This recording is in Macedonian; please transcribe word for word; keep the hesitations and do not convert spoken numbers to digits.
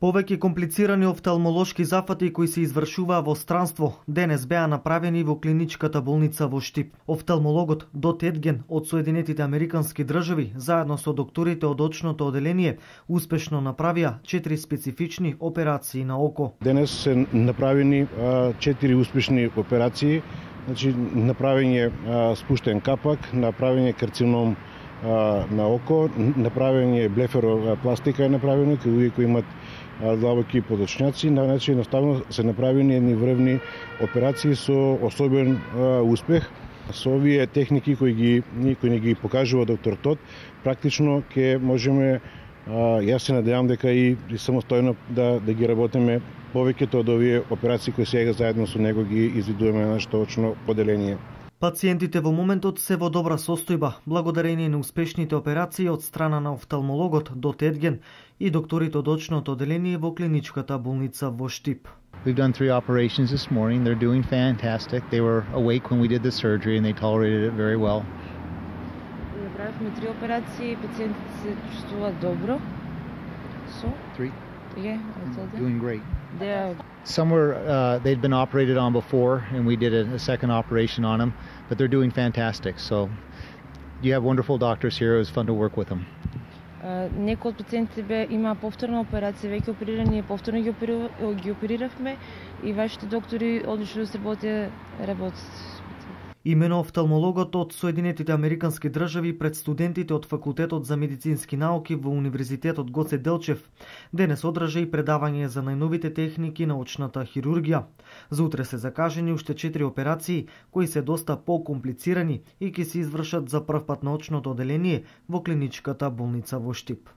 Повеќе комплицирани офталмолошки зафати кои се извршуваа во странство денес беа направени во клиничката болница во Штип. Офталмологот Дот Едген од Соединетите Американски држави заедно со докторите од очното оделение успешно направија четири специфични операции на око. Денес се направени четири успешни операции, значи направен е спуштен капак, направен е карцином на око, направен е блефаропластика е направено кај луѓе кои имат длабоки подочњаци, значи едноставно се направени едни врвни операции со особен а, успех. Со овие техники кои ги кои ни ги покажува доктор Тот, практично ќе можеме, а, јас се надевам дека и, и самостојно да да ги работиме повеќето од овие операции кои сега заедно со него ги извидуваме на нашето очно поделение. Пациентите во моментот се во добра состојба, благодарение на успешните операции од страна на офталмологот Дот Едген и докторите од очното оделение во клиничката болница во Штип. We've done three operations this morning. They're doing fantastic. They were awake when we did the surgery and they tolerated it very well. Направивме три операции и пациентите се чувствуваат добро. So? Three? Yeah, I told them. Doing great. They are... Some were, uh, they'd been operated on before and we did a, a second operation on them, but they're doing fantastic. So you have wonderful doctors here. It was fun to work with them. Uh, некои од пациентите бе има повторна операција, веќе оперирани, повторно ги, опери, ги опериравме и вашите доктори одлично сработија работат. Имено офталмологот од Соединетите Американски држави пред студентите од Факултетот за медицински науки во Универзитетот Гоце Делчев денес одржа и предавање за најновите техники на очната хирургија. За утре се закажени уште четири операции кои се доста покомплицирани и ќе се извршат за прв пат на очното оделение во клиничката болница во Штип.